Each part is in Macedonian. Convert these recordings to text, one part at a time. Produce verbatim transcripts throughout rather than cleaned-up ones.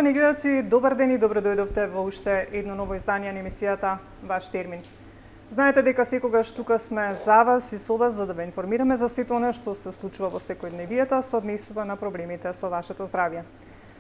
Љубени гледачи, добар ден и добро дојдовте во уште едно ново издание на емисијата Ваш термин. Знаете дека секогаш тука сме за вас и со вас за да ве информираме за сето она што се случува во секојдневието со однесува на проблемите со вашето здравје.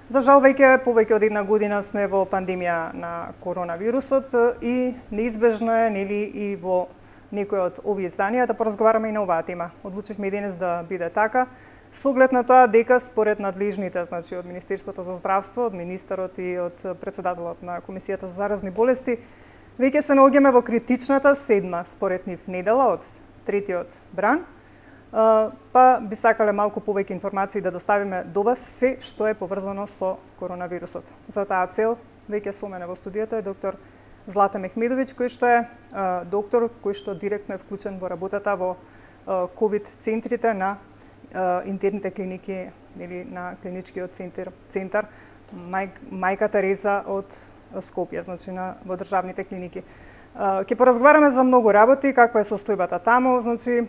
За жал веќе повеќе од една година сме во пандемија на коронавирусот и неизбежно е, нели, и во некој од овие изданија да поразговараме и на оваа тема. Одлучивме и денес да биде така, со оглед на тоа дека според надлежните, значи од Министерството за здравство, од министерот и од претседателот на Комисијата за заразни болести, веќе се наоѓаме во критичната седма, според нив, недела од третиот бран, па би сакале малку повеќе информации да доставиме до вас се што е поврзано со коронавирусот. За таа цел веќе со мене во студиото е доктор Злата Мехмедовиќ, кој што е доктор кој што директно е вклучен во работата во ковид центрите на интерните клиники или на клиничкиот центар, центар Мај, Мајка Тереза од Скопје, значи на во државните клиники. Ќе поразговараме за многу работи, каква е состојбата таму, значи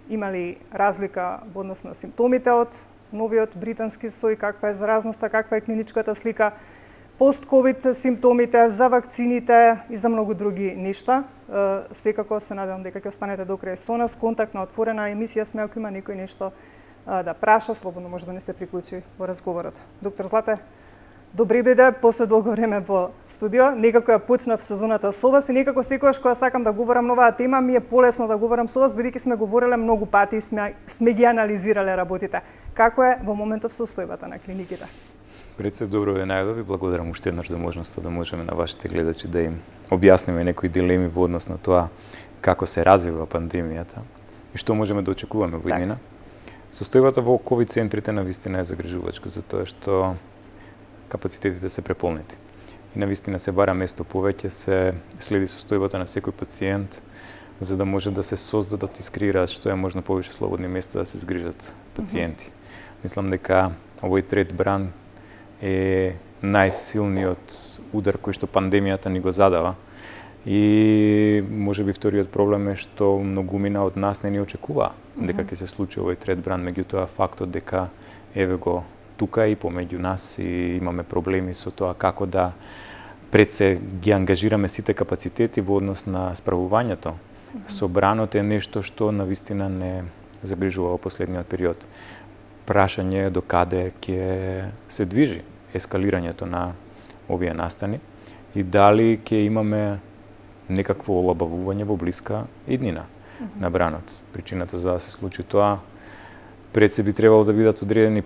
има ли разлика во однос на симптомите од новиот британски сој, каква е заразноста, каква е клиничката слика, пост-ковид симптомите, за вакцините и за многу други нешта. Секако се надевам дека ќе останете до крај со нас. Контактна отворена емисија сме, ако има некој нешто да праша, слободно може да не се приклучи во разговорот. Доктор Злате, добре дојде после долго време во студио. Некако ја почнав сезоната со вас и некако секогаш кога сакам да говорам новаа тема, ми е полесно да говорам со вас, бидејќи сме говореле многу пати и сме, сме ги анализирале работите. Како е во моментов состојбата на клиниките? Пред се добро ве најдов и благодарам уште еднаш за можноста да можеме на вашите гледачи да им објасниме некои дилеми во однос на тоа како се развива пандемијата и што можеме да очекуваме во иднина. Состојбата во ковид центрите навистина е загрижувачка, затоа што капацитетите се преполнети. И навистина се бара место повеќе, се следи состојбата на секој пациент, за да може да се создадат и скреираат што е можно повеќе слободни места да се згрижат пациенти. Mm -hmm. Мислам дека овој трет бран е најсилниот удар кој што пандемијата ни го задава. И можеби вториот проблем е што многумина од нас не ни очекува дека ќе се случи овој трет бран, меѓутоа фактот дека еве го тука и помеѓу нас и имаме проблеми со тоа како да пред се ги ангажираме сите капацитети во однос на справувањето со бранот е нешто што навистина не загрижува во последниот период. Прашање е до каде ќе се движи ескалирањето на овие настани и дали ќе имаме некакво олабавување во блиска иднина mm -hmm. на бранот. Причината за да се случи тоа пред се би требало да бидат одредени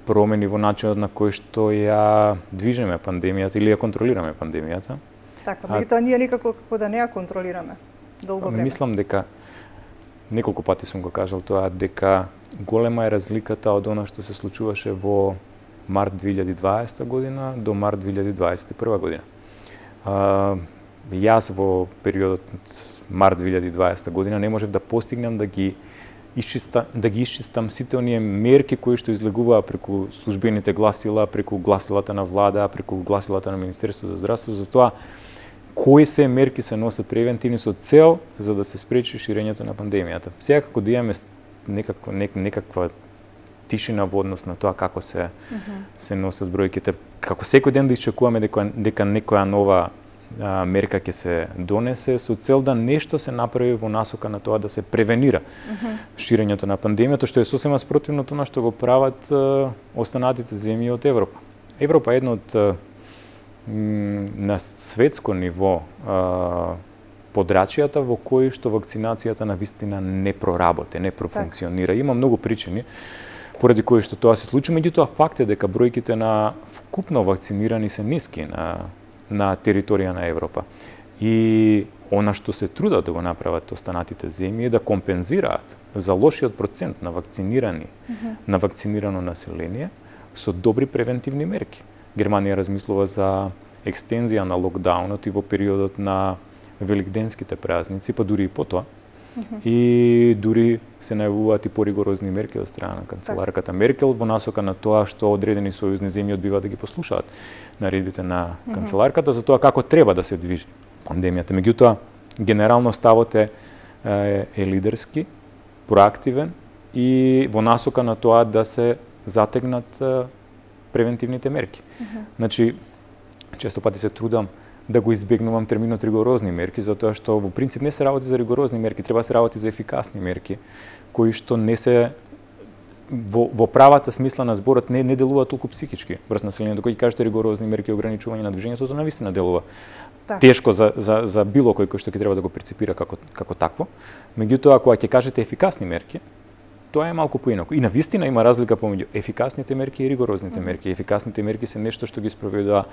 промени во начинот на кој што ја движиме пандемијата или ја контролираме пандемијата. Така, меѓутоа ние никако како да не ја контролираме долго време. Мислам дека неколку пати сум го кажал тоа, дека голема е разликата од она што се случуваше во март две илјади и дваесета година до март две илјади дваесет и прва година. А, јас во периодот март две илјади и дваесета година не можев да постигнам да ги Исчиста, да ги исчистам сите оние мерки кои што излегуваа преку службените гласила, преку гласилата на влада, преку гласилата на Министерството за здравство, за тоа кои се мерки се носат превентивни со цел за да се спречи ширењето на пандемијата. Сега како да имаме некаква, нек, некаква тишина во однос на тоа како се, mm -hmm. се носат бројките, како секој ден да исчекуваме дека, дека некоја нова а, мерка ќе се донесе со цел да нешто се направи во насока на тоа да се превенира mm -hmm. ширењето на пандемијата, што е сосема спротивно тоа што го прават а, останатите земји од Европа. Европа е една од а, на светско ниво а, подрачјата во кои што вакцинацијата на вистина не проработи, не профункционира. Има многу причини поради кои што тоа се случи, меѓутоа факт е дека бројките на вкупно вакцинирани се ниски на на територија на Европа. И она што се трудат да го направат останатите земји е да компензираат за лошиот процент на вакцинирани, mm -hmm. на вакцинирано население со добри превентивни мерки. Германија размислува за екстензија на локдаунот и во периодот на великденските празници, па дури и потоа. Mm -hmm. И дури се најавуваат и поригорозни мерки од страна на канцеларката Меркел во насока на тоа што одредени сојузни земји одбиваат да ги послушаат наредбите на канцеларката за тоа како треба да се движи пандемијата. Меѓутоа, генерално ставот е, е лидерски, проактивен и во насока на тоа да се затегнат превентивните мерки. Mm -hmm. Значи, често пати се трудам да го избегнувам терминот ригорозни мерки, затоа што во принцип не се работи за ригорозни мерки, треба да се работи за ефикасни мерки, кои што не се во, во правата смисла на зборот не, не делува толку психички врз населението, кој ќе кажете ригорозни мерки и ограничување на движењето, тоа навистина делува так. Тешко за, за, за било кој кој што ќе треба да го перцепира како, како такво. Меѓутоа, ако ќе кажете ефикасни мерки, тоа е малку поинаку. И навистина има разлика помеѓу ефикасните мерки и ригорозните mm -hmm. мерки. Ефикасните мерки се нешто што ги спроведува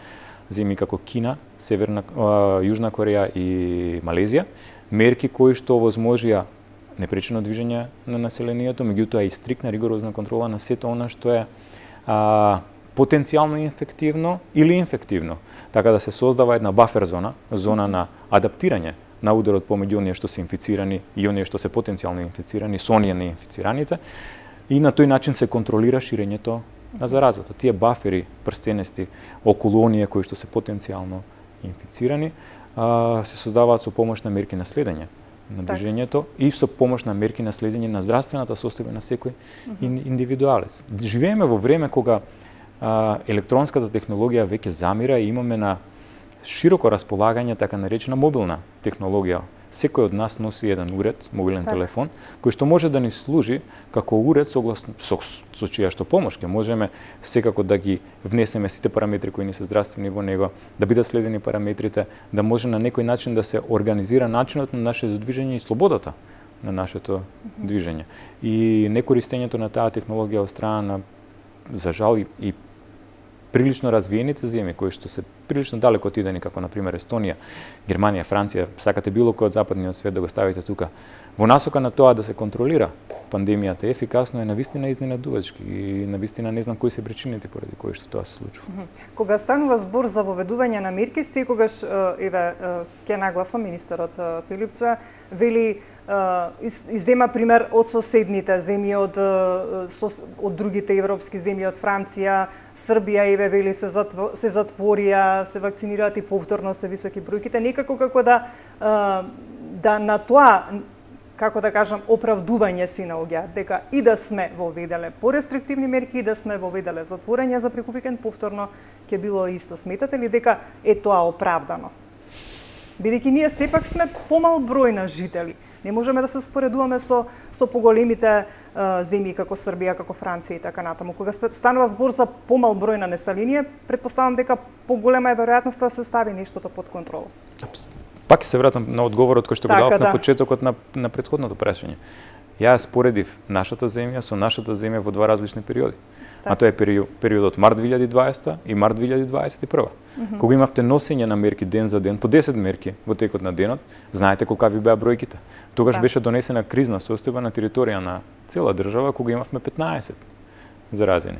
земји како Кина, Северна, а, Јужна Кореја и Малезија, мерки кои што овозможија непречено движење на населението, меѓутоа и стрикна ригорозна контрола на сето она што е а, потенцијално инфективно или инфективно, така да се создава една бафер зона, зона на адаптирање на ударот помеѓу оние што се инфицирани и оние што се потенцијално инфицирани со оние неинфицираните, и на тој начин се контролира ширењето на заразата. Тие бафери, прстенести околу оние кои што се потенцијално инфицирани, а, се создаваат со помош на мерки на следење на движењето и со помош на мерки на следење на здравствената состојба на секој mm -hmm. индивидуалец. Живееме во време кога а, електронската технологија веќе замира и имаме на широко располагање така наречена мобилна технологија. Секој од нас носи еден уред, мобилен так. телефон, кој што може да ни служи како уред согласно со, со чија што помош ќе можеме секако да ги внесеме сите параметри кои ни се здравствени во него, да бидат следени параметрите, да може на некој начин да се организира начинот на нашето движење и слободата на нашето mm-hmm. движење. И некористењето на таа технологија од страна на, за жал, и, и прилично развиените земји кои што се прилично далеко отидени, како на пример Естонија, Германија, Франција, сакате било кој од западниот свет да го ставите тука, во насока на тоа да се контролира пандемијата ефикасно, е навистина изненадувачки и навистина не знам кои се причините поради кои што тоа се случува. Кога станува збор за воведување на мерки, секогаш еве ќе нагласам министерот Филипче вели иззема пример од соседните земји, од од другите европски земји, од Франција, Србија, еве вели се затво, се затворија, се вакцинираат и повторно се високи бројките, некако како да да на тоа, како да кажам, оправдување си наоѓаат дека и да сме воведеле порестриктивни мерки, и да сме воведеле затворање за преку викенд повторно ќе било исто. Сметате ли дека е тоа оправдано? Бидејќи ние сепак сме помал број на жители. Не можеме да се споредуваме со со поголемите а, земји како Србија, како Франција и така натаму. Кога станува збор за помал број на население, претпоставам дека поголема е веројатноста да се стави нештото под контрола. Пак ќе се вратам на одговорот кој што го така, дадов да. на почетокот на на претходното прашање. Ја споредив нашата земја со нашата земја во два различни периоди. Так. А тоа е период, периодот март две илјади и дваесета и март две илјади дваесет и прва. Mm -hmm. Кога имавте носење на мерки ден за ден, по десет мерки во текот на денот, знаете колкави беа бројките. Тогаш так. беше донесена кризна состојба на територија на цела држава, кога имавме петнаесет заразени.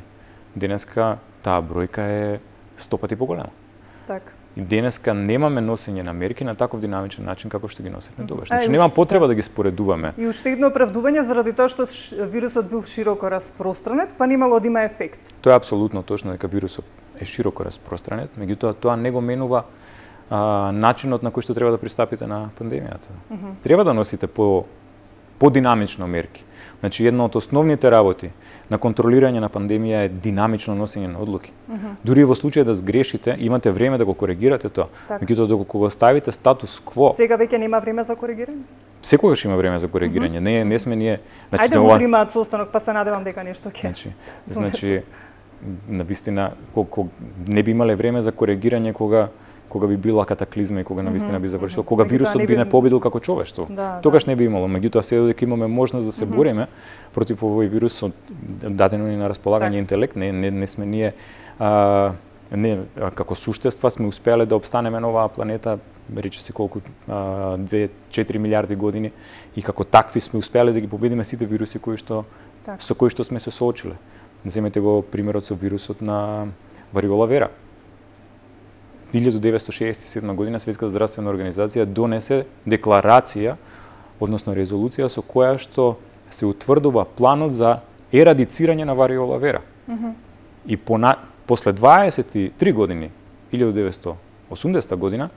Денеска таа бројка е сто пати поголема. Так. И денеска немаме носење на мерки на таков динамичен начин како што ги носевме тогаш. Значи нема потреба да ги споредуваме. И уште едно оправдување заради тоа што вирусот бил широко распространет, па немало да има ефект. Тоа е апсолутно точно дека вирусот е широко распространет, меѓутоа тоа не го менува а, начинот на кој што треба да пристапите на пандемијата. Mm -hmm. Треба да носите по подинамично мерки. Значи, една од основните работи на контролирање на пандемија е динамично носење на одлуки. Mm -hmm. Дури во случај да сгрешите, имате време да го коригирате тоа. Меѓутоа, доколку го ставите статус кво... Сега веќе нема време за коригирање? Секогаш има време за коригирање. Mm -hmm. Не, не сме ние... Значи, ајде го примаат состанок, па се надевам дека нешто ќе... Значи, значи навистина, колку не би имале време за коригирање кога кога би била катаклизма и кога навистина би завршил, кога вирусот би не победил како човештво. Да, тогаш да. не би имало. Меѓутоа, се додека имаме можност да се бориме против овој вирус, дадено ни на располагање так. интелект, не, не, не сме ние а, не, а, како суштества сме успеале да обстанеме на оваа планета, рече се колку две-четири милиарди години, и како такви сме успеале да ги победиме сите вируси кои што так. со кои што сме се соочиле. Земете го примерот со вирусот на вариола вера. илјада деветстотини шеесет и седма година Светската здравствена организација донесе декларација, односно резолуција со која што се утврдува планот за ерадицирање на вариола вера. Mm -hmm. И пона, после дваесет и три години, илјада деветстотини и осумдесета година,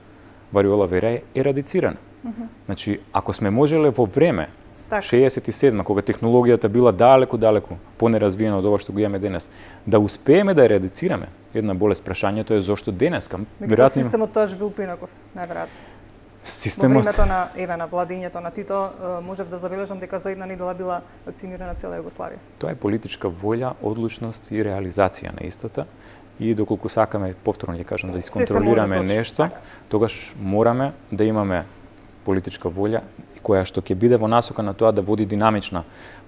вариола вера е ерадицирана. Mm -hmm. Значи, ако сме можеле во време Так. шеесет и седма, кога технологијата била далеку, далеку понеразвиена од ова што го имаме денес. Да успееме да ерадицираме една болест, прашањето е зошто денеска. Веројатно системот тоаш бил поинаков, најверојатно. Системот... Во времето на еве на владењето на Тито можев да забележам дека за една недела била вакцинирана цела Југославија. Тоа е политичка волја, одлучност и реализација на истата. И доколку сакаме, повторно ќе кажам, да исконтролираме нешто, така. Тогаш мораме да имаме политичка волја која што ќе биде во насока на тоа да води динамична,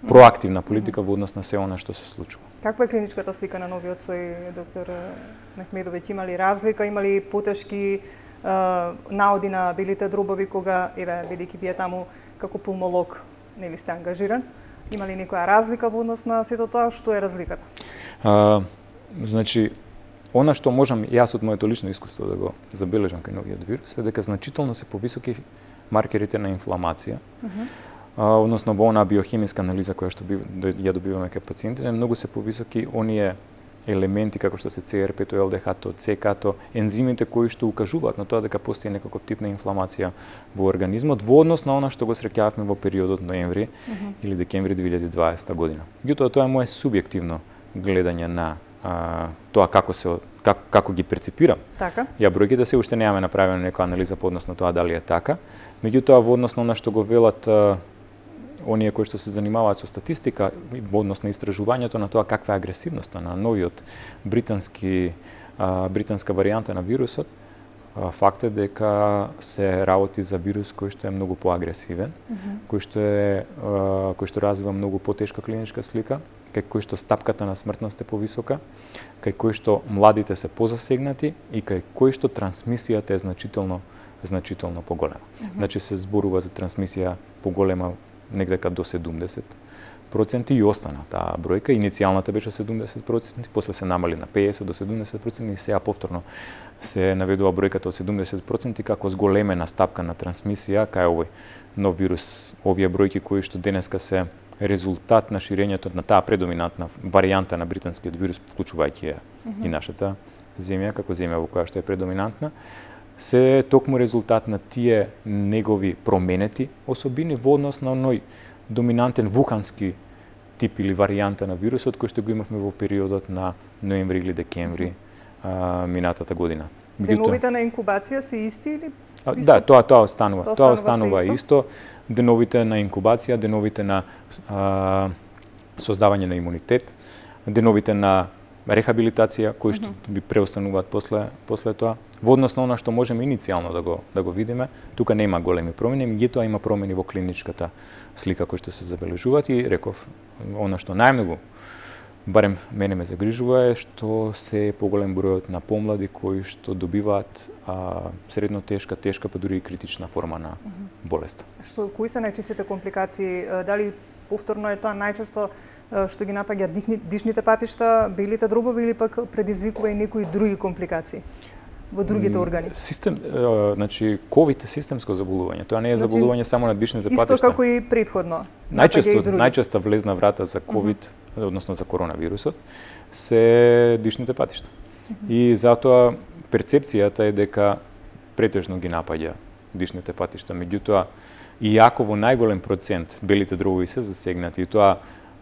проактивна политика во однос на се она што се случува. Каква е клиничката слика на новиот сој, доктор Мехмедовиќ? Има ли разлика, има ли потешки наоди на белите дробови кога, еве, бидејќи вие таму како пулмолог, нели сте ангажиран? Има ли некоја разлика во однос на сето тоа? Што е разликата? А, значи, она што можам јас од моето лично искуство да го забележам кај новиот вирус е дека значително се повисоки маркерите на инфламација, uh -huh. а, односно во онаа биохемиска анализа која што бив, ја добиваме кај пациентите, многу се повисоки оние елементи како што се Це Ер пет, Ел Де Ха-то, Це Ка-то, ензимите кои што укажуваат на тоа дека постои некаков тип на инфламација во организмот во однос на она што го среќававме во периодот ноември uh -huh. или декември две илјади и дваесета година. Меѓутоа тоа е мое субјективно гледање на а, тоа како се како, како ги перципирам. Така. Ја бројките се уште немаме направена некоја анализа по однос на тоа дали е така. Меѓутоа во однос на она што го велат а, оние кои што се занимаваат со статистика во однос на истражувањето на тоа каква е агресивноста на новиот британски а, британска варијанта на вирусот, а, факт е дека се работи за вирус кој што е многу поагресивен, mm -hmm. кој што е а, кој што развива многу потешка клиничка слика, кај кој што стапката на смртност е повисока, кај кој што младите се позасегнати и кај кој што трансмисијата е значително значително поголема. Mm -hmm. Значи се зборува за трансмисија поголема негдека до седумдесет проценти и остана таа бројка. Иницијалната беше седумдесет проценти, после се намали на пеесет до седумдесет проценти и сега повторно се наведува бројката од седумдесет проценти како зголемена стапка на трансмисија кај овој нов вирус. Овие бројки кои што денеска се резултат на ширењето на таа предоминантна варијанта на британскиот вирус, вклучувајќи ја mm -hmm. и нашата земја како земја во која што е предоминантна, се токму резултат на тие негови променети особини во однос на оној доминантен вухански тип или варијанта на вирусот кој што го имавме во периодот на ноември или декември а, минатата година. Деновите на инкубација се исти или? А, да, тоа тоа останува. Тоа, тоа останува исто. исто. Деновите на инкубација, деновите на а, создавање на имунитет, деновите на рехабилитација кои што mm -hmm. би преостануваат после после тоа. Во однос на она што можеме иницијално да го да го видиме, тука нема големи промени, меѓутоа има промени во клиничката слика кои што се забележуваат и реков, она што најмногу барем мене ме загрижува е што се поголем бројот на помлади кои што добиваат а, средно тешка, тешка па дури и критична форма на mm -hmm. болеста. Што кои се најчестите компликации? Дали повторно е тоа најчесто што ги напаѓа дихни, дишните патишта, белите дробови или пак предизвикува и некои други компликации во другите органи? Систем, е, значи ковид е системско заболување. Тоа не е значи, заболување само на дишните патишта. Исто како и претходно. Најчесто најчеста влезна врата за ковид, uh -huh. односно за коронавирусот, се дишните патишта. Uh -huh. И затоа перцепцијата е дека претежно ги напаѓа дишните патишта. Меѓутоа, иако во најголем процент белите дробови се засегнати, и тоа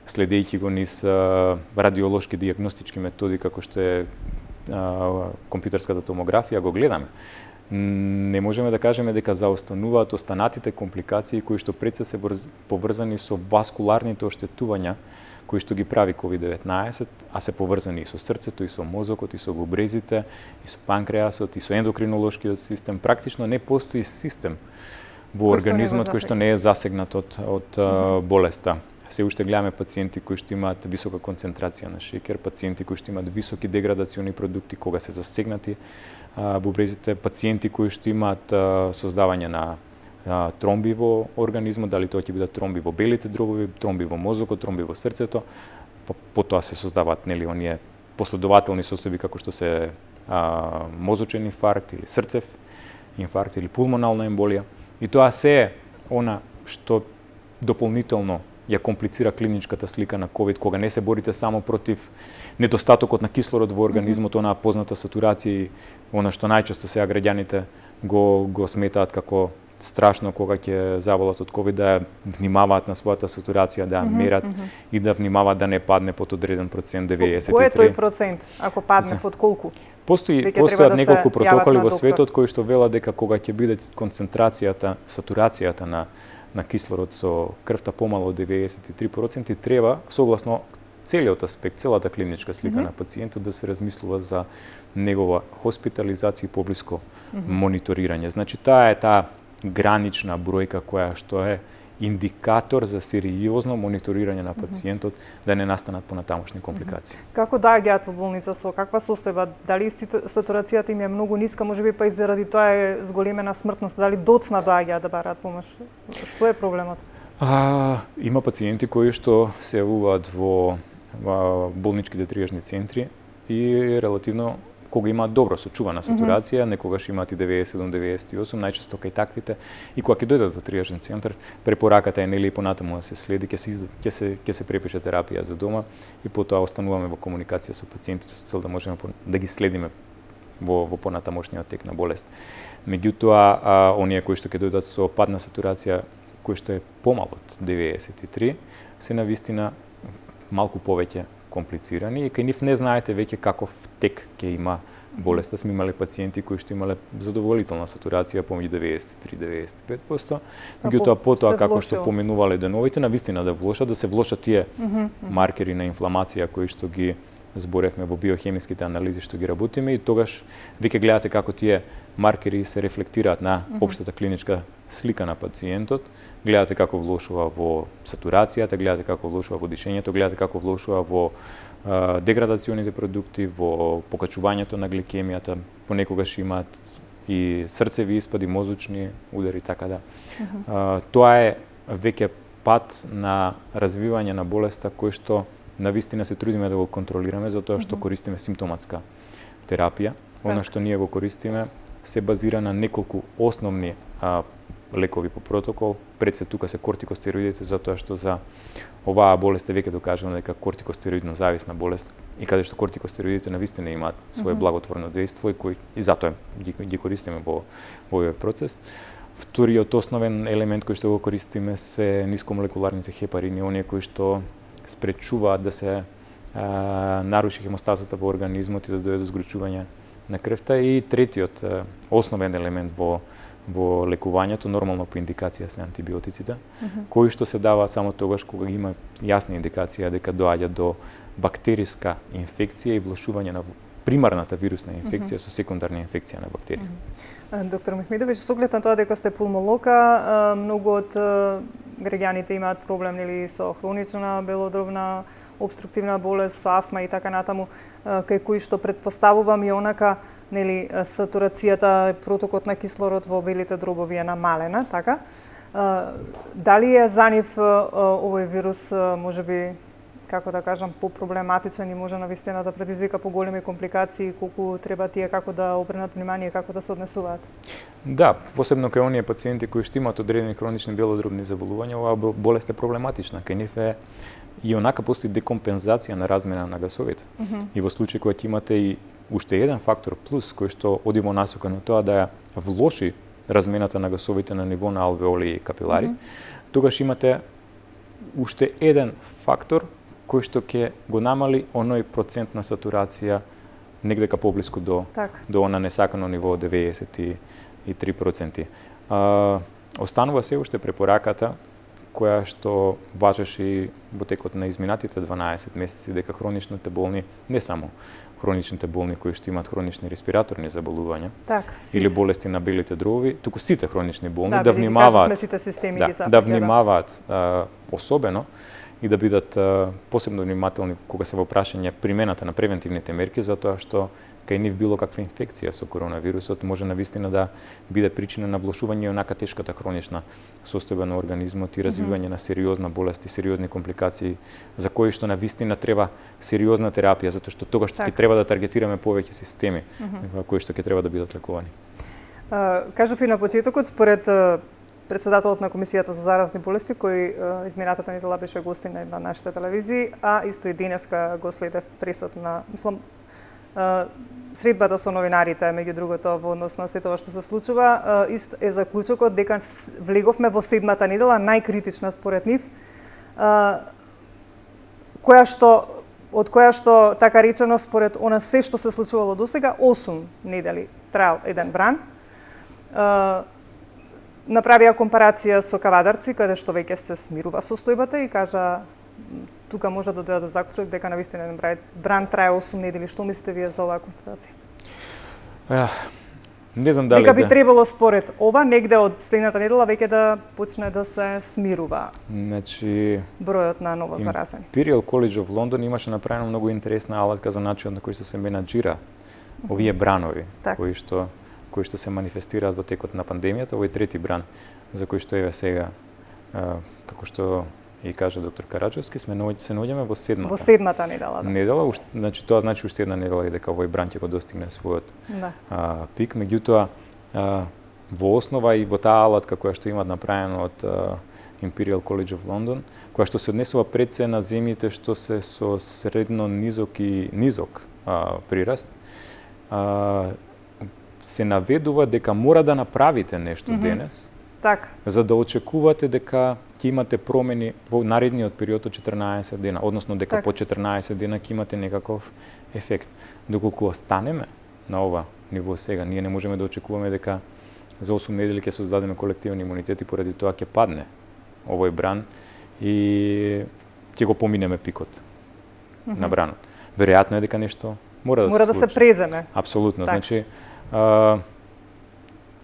следејќи го низ радиолошки дијагностички методи како што е компјутерската томографија, го гледаме. Не можеме да кажеме дека заостануваат останатите компликации кои што пред се се поврзани со васкуларните оштетувања кои што ги прави ковид деветнаесет, а се поврзани и со срцето, и со мозокот, и со губрезите, и со панкреасот, и со ендокринолошкиот систем. Практично не постои систем во организмот кој што не е засегнат од, од mm -hmm. болеста. Се уште гледаме пациенти кои што имаат висока концентрација на шеќер, пациенти кои што имаат високи деградациони продукти кога се засегнати а, бубрезите, пациенти кои што имаат а, создавање на а, тромби во организмот, дали тоа ќе бидат тромби во белите дробови, тромби во мозокот, тромби во срцето, па потоа се создаваат нели оние последователни состојби како што се а, мозочен инфаркт или срцев инфаркт или пулмонална емболија. И тоа се е она што дополнително ја комплицира клиничката слика на ковид, кога не се борите само против недостатокот на кислород во организмот, онаа позната сатурација и она што најчесто сега граѓаните го го сметаат како страшно кога ќе заболат од ковид да внимаваат на својата сатурација, да ја мерат mm -hmm. и да внимаваат да не падне под одреден процент деветдесет и три. Кој е тој процент? Ако падне За... под колку? Постои постојат да неколку протоколи во светот кои што велат дека кога ќе биде концентрацијата, сатурацијата на на кислород со крвта помало од деветдесет и три проценти, треба согласно целиот аспект, целата клиничка слика mm -hmm. на пациентот да се размислува за негова хоспитализација и поблиско mm -hmm. мониторирање. Значи таа е таа гранична бројка која што е индикатор за сериозно мониторирање на пациентот mm -hmm. да не настанат понатамошни компликации. Mm -hmm. Како доаѓаат во болница, со каква состојба? Дали сатурацијата им е многу ниска, можеби па и заради тоа е зголемена смртност, дали доцна доаѓаат да бараат помош? Што е проблемот? А, има пациенти кои што се јавуваат во, во болничките триажни центри и релативно кога имаат добро сочувана сатурација, mm -hmm. некогаш имаат и деветдесет и седум деветдесет и осум, најчесто кај таквите, и кога ќе дојдат во триажен центар, препораката е нели и понатаму да се следи, ќе се ќе се ќе се препише терапија за дома и потоа остануваме во комуникација со пациентите со цел да можеме да ги следиме во во понатамошниот тек на болест. Меѓутоа, а, оние кои што ќе дојдат со падна сатурација кој што е помал од деветдесет и три, се навистина малку повеќе комплицирани и кај нив не знаете веќе каков тек ќе има болеста. Сме имале пациенти кои што имале задоволителна сатурација помеѓу деветдесет и три до деветдесет и пет проценти, меѓутоа потоа како што поминувале деновите, навистина да влошат, да се влошат тие mm -hmm. маркери на инфламација кои што ги зборевме во биохемиските анализи што ги работиме и тогаш веќе гледате како тие маркери се рефлектираат на општата клиничка слика на пациентот, гледате како влошува во сатурацијата, гледате како влошува во дишењето, гледате како влошува во а, деградационите продукти, во покачувањето на гликемијата, понекогаш имаат и срцеви испади, мозочни удари, така да. Uh -huh. а, тоа е веќе пат на развивање на болеста кој што навистина се трудиме да го контролираме затоа што uh -huh. користиме симптоматска терапија. Она што ние го користиме се базира на неколку основни а, лекови по протокол. Пред се тука се кортикостероидите, затоа што за оваа болест е веќе докажано дека кортикостероидно зависна болест и каде што кортикостероидите навистина имаат свое mm -hmm. благотворно дејство и кој и затоа ги, ги користиме во во овој процес. Вториот основен елемент кој што го користиме се нискомолекуларните хепарини, оние кои што спречуваат да се а, наруши хемостазата во организмот и да дојде до згручување на крвта. И третиот а, основен елемент во во лекувањето, нормално по индикација се антибиотиците, mm -hmm. кои што се даваат само тогаш кога има јасна индикација дека доаѓа до бактериска инфекција и влошување на примарната вирусна инфекција mm -hmm. со секундарна инфекција на бактерија. Mm -hmm. Доктор Мехмедовиќ, со оглед на тоа дека сте пулмолог, многу од граѓаните имаат проблем нели со хронична белодробна обструктивна болест, со астма и така натаму, кај кои што претпоставувам и онака нели сатурацијата, протокот на кислород во белите дробови е намалена, така? Дали е за нив овој вирус можеби, како да кажам, попроблематичен и може навистина да предизвика поголеми компликации, колку треба тие како да обрнат внимание, како да се однесуваат? Да, посебно кај оние пациенти кои што имаат одредени хронични белодробни заболувања, оваа болест е проблематична. Кај нив е и онака постои декомпензација на размена на гасовите. Mm -hmm. И во случај кога ќе имате и уште еден фактор плюс кој што оди во насока на тоа да ја влоши размената на гасовите на ниво на алвеоли и капилари, mm -hmm. тогаш имате уште еден фактор кој што ќе го намали оној процент на сатурација негдека поблиску до так. до она несакано ниво од деветдесет и три проценти. А, останува се уште препораката која што важеше и во текот на изминатите дванаесет месеци дека хроничните болни, не само хроничните болни кои што имаат хронични респираторни заболувања так, или болести на белите дробови, туку сите хронични болни да, да внимаваат, сите системи да, ги запрека, да внимаваат а, особено и да бидат а, посебно внимателни кога се во прашање примената на превентивните мерки, затоа што кај нив било каква инфекција со коронавирусот може навистина да биде причина на влошување и онака тешката хронична состојба на организмот и развивање mm -hmm. на сериозна болест и сериозни компликации за кои што навистина треба сериозна терапија, затоа што тогаш ќе треба да таргетираме повеќе системи mm -hmm. кои што ќе треба да бидат лекувани. Uh, кажав и на почетокот, според uh, председателот на Комисијата за заразни болести, кој uh, изминатата недела беше гостин на нашите телевизии, а исто и денеска го следев пресот на, мислам, Средбата со новинарите, меѓу другото, во однос на сето ова што се случува, ист е заклучокот дека влеговме во седмата недела, најкритична според нив, која што од која што, така речено, според она се што се случувало досега, осум недели траел еден бран. Направија компарација со Кавадарци, каде што веќе се смирува состојбата и кажа тука може да дојде до заклучок дека навистина еден бран трае осум недели. Што мислите вие за оваа констатација? Uh, не знам дали дека би да... требало според ова негде од следната недела веќе да почне да се смирува. Значи бројот на ново заразени. Imperial College of London имаше направено многу интересна алатка за начинот на кој што се менаџира овие бранови, так. кои што кои што се манифестираат во текот на пандемијата. Овој трети бран за кој што еве сега, uh, како што и кажа доктор Караджовски, сме се наоѓаме во седмата. Во седмата недела, да. Недела, значи тоа значи уште една недела и дека овој бран ќе го достигне својот да. а, пик. Меѓутоа, а, во основа и во таа алатка која што имат направено од а, Imperial College of London, која што се однесува пред се на земјите што се со средно низок и низок а, прираст, а, се наведува дека мора да направите нешто mm-hmm. денес, так. за да очекувате дека ќе имате промени во наредниот период од четрнаесет дена, односно дека так. по четрнаесет дена ќе имате некаков ефект. Доколку останеме на ова ниво сега, ние не можеме да очекуваме дека за осум недели ќе создадеме колективен имунитет и поради тоа ќе падне овој бран и ќе го поминеме пикот mm-hmm. на бранот. Веројатно е дека нешто мора да мора се случи. да се преземе. Апсолутно. Так. Значи, а,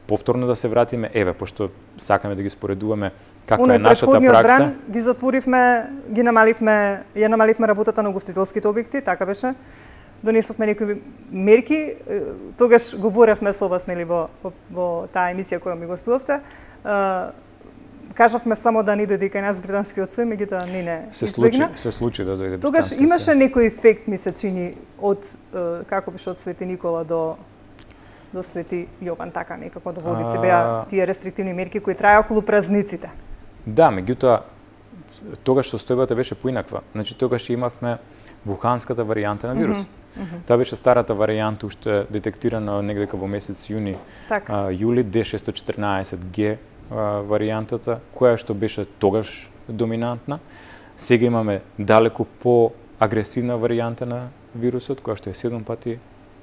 повторно да се вратиме, еве, пошто сакаме да ги споредуваме каква Уно, е нашата пракса. Бран ги затворивме, ги намаливме, ја намаливме работата на угостителските објекти, така беше. Донесовме некои мерки, тогаш говоревме со вас, нели, во, во, во таа емисија која ми гостувавте. Кажавме само да не дојде кај нас британскиот сој, меѓутоа не не се случи, се случи да дојде. Тогаш имаше некој ефект, ми се чини, од како беше од Свети Никола до до Свети Јован, така некако до Водици беа тие рестриктивни мерки кои траја околу празниците. Да, меѓутоа тогаш состојбата беше поинаква. Значи тогаш имавме вуханската варијанта на вирус. Mm -hmm. Таа беше старата варијанта, уште детектирана негде во месец јуни, така. а, јули, Д шестстотини и четрнаесет Г варијантата, која што беше тогаш доминантна. Сега имаме далеку по-агресивна варијанта на вирусот, која што е седум пати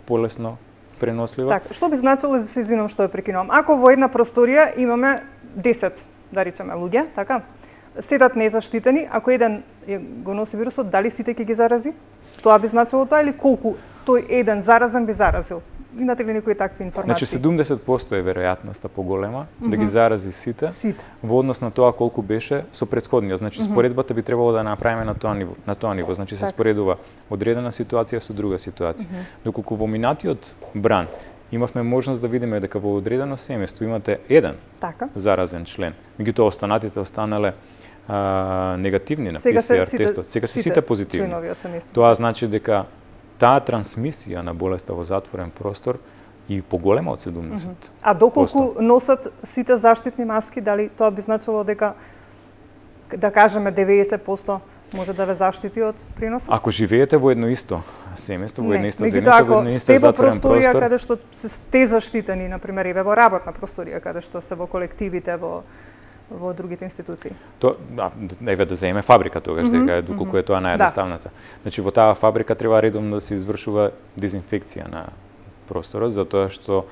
полесно пренослива. Так, што би значило, да се извинувам што ја прекинувам, ако во една просторија имаме десет, да речеме, луѓе, така, седат незаштитени, ако еден го носи вирусот, дали сите ќе ги зарази? Тоа би значило тоа или колку тој еден заразен би заразил? Имате ли некои такви информации? Значи седумдесет проценти е веројатноста поголема mm -hmm. да ги зарази сите, сите во однос на тоа колку беше со претходниот. Значи mm -hmm. споредбата би требало да направиме на тоа ниво, на тоа ниво. Значи так. се споредува одредена ситуација со друга ситуација. Mm -hmm. Доколку во минатиот бран имавме можност да видиме дека во одредено семејство имате еден така. заразен член, меѓутоа останатите останале а, негативни на Пе Се Пе Се Ар тестот. Сега се сите позитивни. Тоа значи дека таа трансмисија на болеста во затворен простор и поголема од седумдесет проценти. А доколку носат сите заштитни маски, дали тоа би значило дека, да кажеме, деветдесет проценти може да ве заштити од приносот? Ако живеете во едно исто семејство, во една иста заедница, во една иста затворен простор, просторија каде што се сте заштитени, на пример, и во работна просторија каде што се во колективите, во во другите институции. То, да, еве да земеме фабрика тогаш, mm -hmm, дека е доколку е тоа наједноставната. Да. Значи во таа фабрика треба редовно да се извршува дезинфекција на просторот, затоа што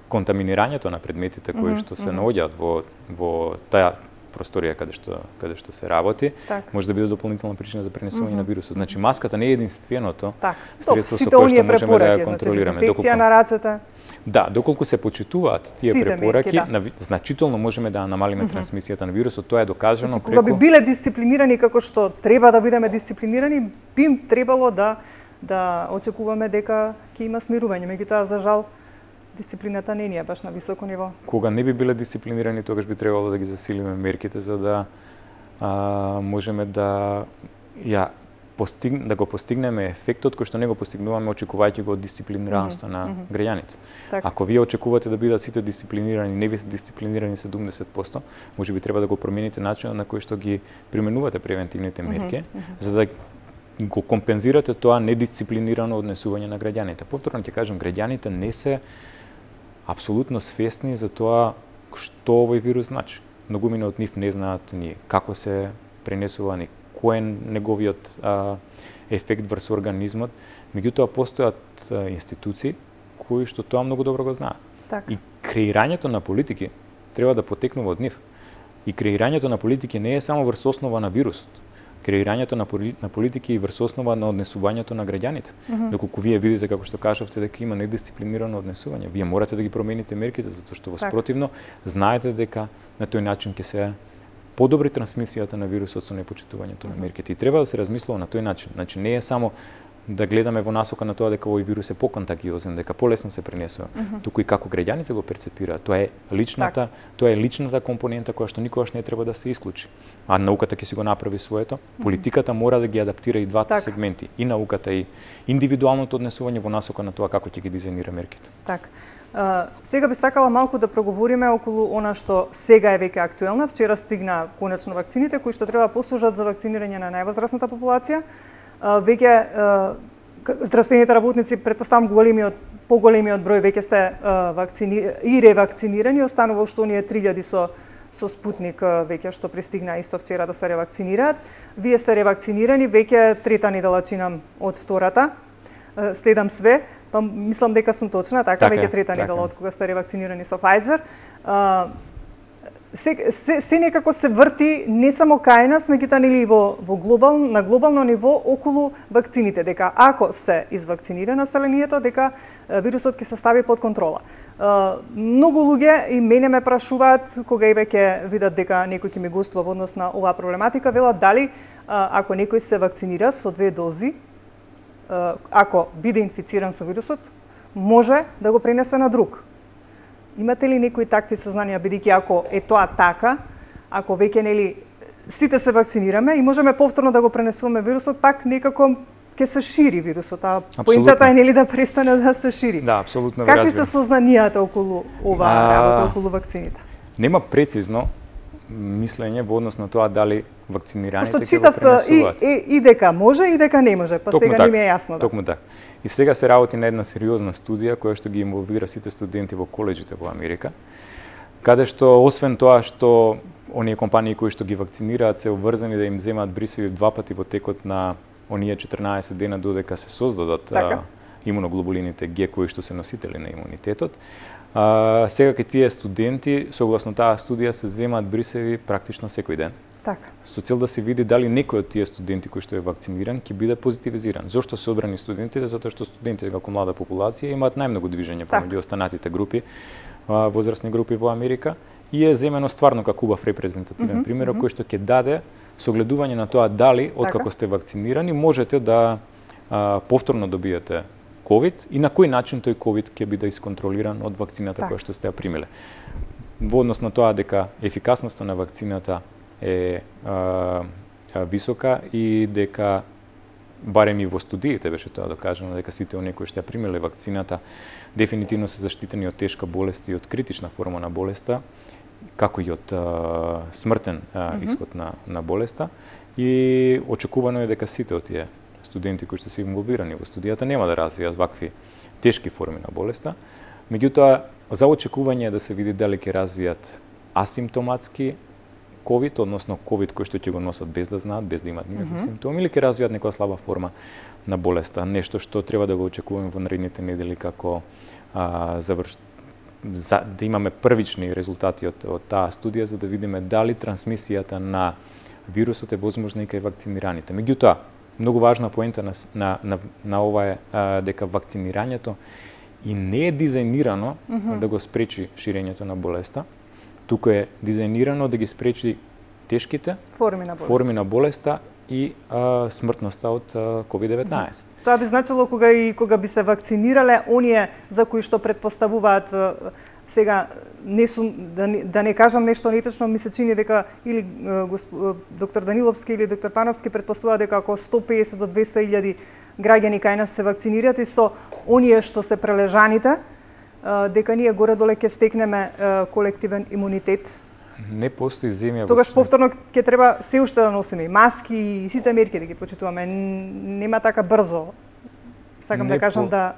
контаминирањето на предметите кои што се наоѓаат во во таа просторија каде што каде што се работи, так. може да биде дополнителна причина за пренесување mm -hmm. на вирусот. Значи маската не е единственото так. средство со кое што можеме да ја контролираме. Значи, дезинфекција на рацете. Да, доколку се почитуваат тие Сите препораки, мерки, да. на, значително можеме да намалиме mm -hmm. трансмисијата на вирусот. Тоа е докажано значи, преку... кога би биле дисциплинирани како што треба да бидеме дисциплинирани, би им требало да да очекуваме дека ќе има смирување. Меѓутоа, за жал, дисциплината не е баш на високо ниво. Кога не би биле дисциплинирани, тогаш би требало да ги засилиме мерките за да а, можеме да ја постиг, да го постигнеме ефектот кој што не го постигнуваме очекувајќи го од дисциплинираноста mm -hmm. на mm -hmm. граѓаните. Так. Ако вие очекувате да бидат сите дисциплинирани, не бидете дисциплинирани седумдесет проценти, може би треба да го промените начинот на кој што ги применувате превентивните мерки, mm -hmm. за да го компензирате тоа недисциплинирано однесување на граѓаните. Повторно ќе кажам, граѓаните не се апсолутно свесни за тоа што овој вирус значи. Многумина од нив не знаат ни како се пренесува, ни кој е неговиот а, ефект врз организмот, меѓутоа постојат а, институции кои што тоа многу добро го знаат. Так. И креирањето на политики треба да потекнува од нив. И креирањето на политики не е само врз основа на вирусот. Креирањето на, на политики и врз основа на однесувањето на граѓаните. Mm -hmm. Доколку вие видите, како што кажавте, дека има недисциплинирано однесување, вие морате да ги промените мерките, затоа што во спротивно знаете дека на тој начин ќе се подобри трансмисијата на вирусот со непочитувањето mm -hmm. на мерките. И треба да се размислува на тој начин. Значи не е само да гледаме во насока на тоа дека овој вирус е поконтагиозен, дека полесно се пренесува, mm -hmm. туку и како граѓаните го перцепираат. Тоа е личната, так. тоа е личната компонента која што никогаш не треба да се исклучи. А науката ќе си го направи своето. Политиката мора да ги адаптира и двата так. сегменти, и науката и индивидуалното однесување во насока на тоа како ќе ги дизајнира мерките. Так. Uh, сега би сакала малку да проговориме околу она што сега е веќе актуелна. Вчера стигна конечно вакцините кои што треба послужат за вакцинирање на највозрасната популација. Uh, веќе uh, здравствените работници, претпоставам големиот, поголемиот број веќе сте uh, вакцини и ревакцинирани, останува што оние три илјади со со Спутник uh, веќе што пристигна исто вчера да се ревакцинираат. Вие сте ревакцинирани, веќе трета недела чинам од втората. Uh, следам све, па мислам дека сум точна, така, така веќе трета недела од кога сте ревакцинирани со Pfizer. Uh, Се, се, се некако се врти не само кај нас, меѓутоа нели во во глобал на глобално ниво околу вакцините, дека ако се извакцинира населението, дека вирусот ќе се стави под контрола. Многу луѓе и мене ме прашуваат кога и веќе видат дека некој ќе ми гостува во однос на оваа проблематика, велат дали ако некој се вакцинира со две дози, ако биде инфициран со вирусот, може да го пренесе на друг. Имате ли некои такви сознанија, бидејќи ако е тоа така, ако веќе нели сите се вакцинираме и можеме повторно да го пренесуваме вирусот, пак некако ќе се шири вирусот, а поинтата е нели да престане да се шири. Да, апсолутно. Какви се сознанијата околу оваа работа, околу вакцините? Нема прецизно мислење во однос на тоа дали вакцинираните ќе го пренесуваат. И, и, и дека може и дека не може, па токму сега так, не ми е јасно. Да. Токму така. И сега се работи на една сериозна студија која што ги инволвира сите студенти во колеџите во Америка, каде што освен тоа што оние компании кои што ги вакцинираат се обврзани да им земаат брисеви два пати во текот на оние четрнаесет дена додека се создадат така. имуноглобулините Г кои што се носители на имунитетот. А, сега кај тие студенти, согласно таа студија, се земаат брисеви практично секој ден. Така. Со цел да се види дали некој од тие студенти кои што е вакциниран ќе биде позитивизиран. Зошто се одбрани студентите? Затоа што студентите како млада популација имаат најмногу движење помеѓу останатите групи, возрастни групи во Америка, и е земено стварно како убав репрезентативен mm -hmm, пример, mm -hmm. кој што ќе даде согледување на тоа дали откако сте вакцинирани можете да а, повторно добиете ковид и на кој начин тој ковид ќе биде исконтролиран од вакцината так. која што сте ја примиле. Во однос на тоа дека ефикасноста на вакцината е а, а, висока и дека барем и во студиите беше тоа докажано дека сите оние кои што ја примиле вакцината дефинитивно се заштитени од тешка болест и од критична форма на болеста, како и од а, смртен а, mm -hmm. исход на, на болеста, и очекувано е дека сите од тие студенти кои што се инволвирани во студијата нема да развијат вакви тешки форми на болеста. Меѓутоа, за очекување е да се види дали ќе развијат асимптоматски ковид, односно ковид кој што ќе го носат без да знаат, без да имаат никакви mm -hmm. симптоми, или ќе развијат некоја слаба форма на болеста, нешто што треба да го очекуваме во наредните недели како а, заврш... за да имаме првични резултати од, од таа студија за да видиме дали трансмисијата на вирусот е возможна и кај вакцинираните. Меѓутоа, многу важна поента на на на, на ова е а, дека вакцинирањето и не е дизајнирано mm -hmm. да го спречи ширењето на болеста, туку е дизајнирано да ги спречи тешките форми на болеста, форми на болеста и а, смртноста од ковид деветнаесет. Тоа би значило кога и кога би се вакцинирале оние за кои што претпоставуваат сега не сум да не, да не кажам нешто неточно, ми се чини дека или госп, доктор Даниловски или доктор Пановски претпоставуваат дека ако сто песет до двесте илјади граѓани кај нас се вакцинираат и со оние што се прележаните, дека ние горе-доле ќе стекнеме колективен имунитет Не постои земја. Тогаш повторно ќе треба се уште да носиме и маски и сите мерки да ги почитуваме. Нема така брзо. Сакам не да кажам по... да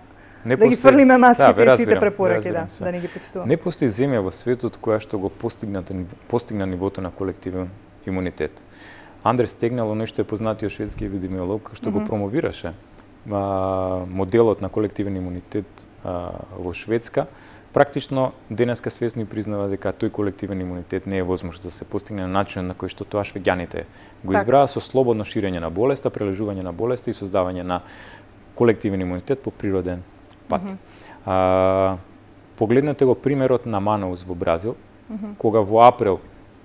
не да ги фрлиме маските да, и сите препораки, да, да не ги почитуваме. Не постои земја во светот која што го постигна постигна нивото на колективен имунитет. Андрес Тегнел, нешто е познатиот шведски епидемиолог, што mm -hmm. го промовираше а, моделот на колективен имунитет а, во Шведска, практично денеска свесно признава дека тој колективен имунитет не е возможно да се постигне на начин на кој што тоа швеѓаните го избраа со слободно ширење на болеста, прележување на болеста и создавање на колективен имунитет по природен пат. Mm -hmm. а, погледнете го примерот на Манаус во Бразил, mm -hmm. кога во април